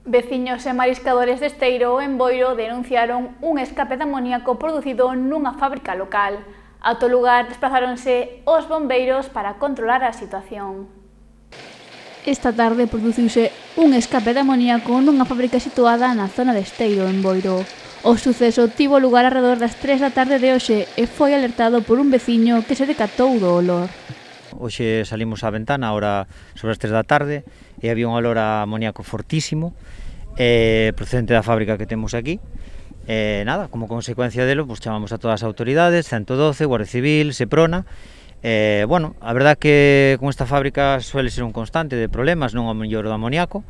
Veciños e mariscadores de Esteiro, en Boiro, denunciaron un escape de amoníaco producido nunha fábrica local. Ata o lugar desplazáronse os bombeiros para controlar a situación. Esta tarde produciuse un escape de amoníaco nunha fábrica situada na zona de Esteiro, en Boiro. O suceso tivo lugar alrededor das 3 da tarde de hoxe e foi alertado por un veciño que se decatou do olor. Hoxe salimos á ventana, ahora sobre as 3 da tarde, e había un olor a amoníaco fortísimo, procedente da fábrica que temos aquí. Nada, como consecuencia delo, pues chamamos a todas as autoridades, 112, Guardia Civil, Seprona. Bueno, a verdad que con esta fábrica suele ser un constante de problemas, non o mellor do amoníaco,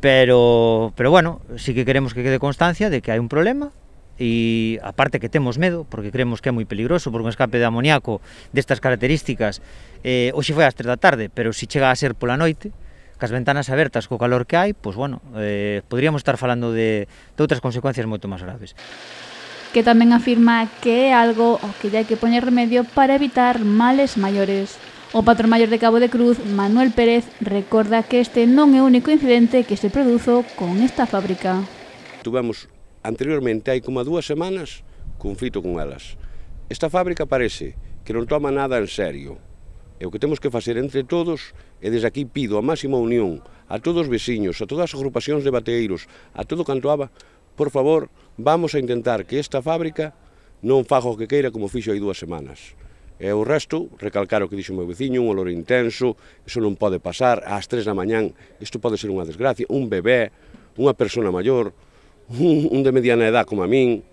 pero bueno, sí que queremos que quede constancia de que hai un problema. E aparte que temos medo, porque creemos que é moi peligroso, porque un escape de amoníaco destas características hoxe foi ás 3 da tarde, pero se chega a ser pola noite, cas ventanas abertas co calor que hai, pois bueno, poderíamos estar falando de outras consecuencias moito máis graves. Que tamén afirma que é algo ao que hai que poñer remedio para evitar males maiores. O patrón maior de Cabo de Cruz, Manuel Pérez, recorda que este non é o único incidente que se produzo con esta fábrica. Tuvemos anteriormente, hai como 2 semanas, conflito con elas. Esta fábrica parece que non toma nada en serio. E o que temos que facer entre todos, e desde aquí pido a máxima unión a todos os veciños, a todas as agrupacións de bateeiros, a todo canto aba, por favor, vamos a intentar que esta fábrica non faga o que queira como fixo hai 2 semanas. E o resto, recalcar o que dixo o meu veciño, un olor intenso, iso non pode pasar ás 3 da mañán, isto pode ser unha desgracia, un bebé, unha persona maior, un de mediana edad como a min.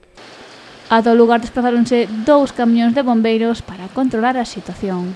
Ata o lugar desplazáronse 2 camións de bombeiros para controlar a situación.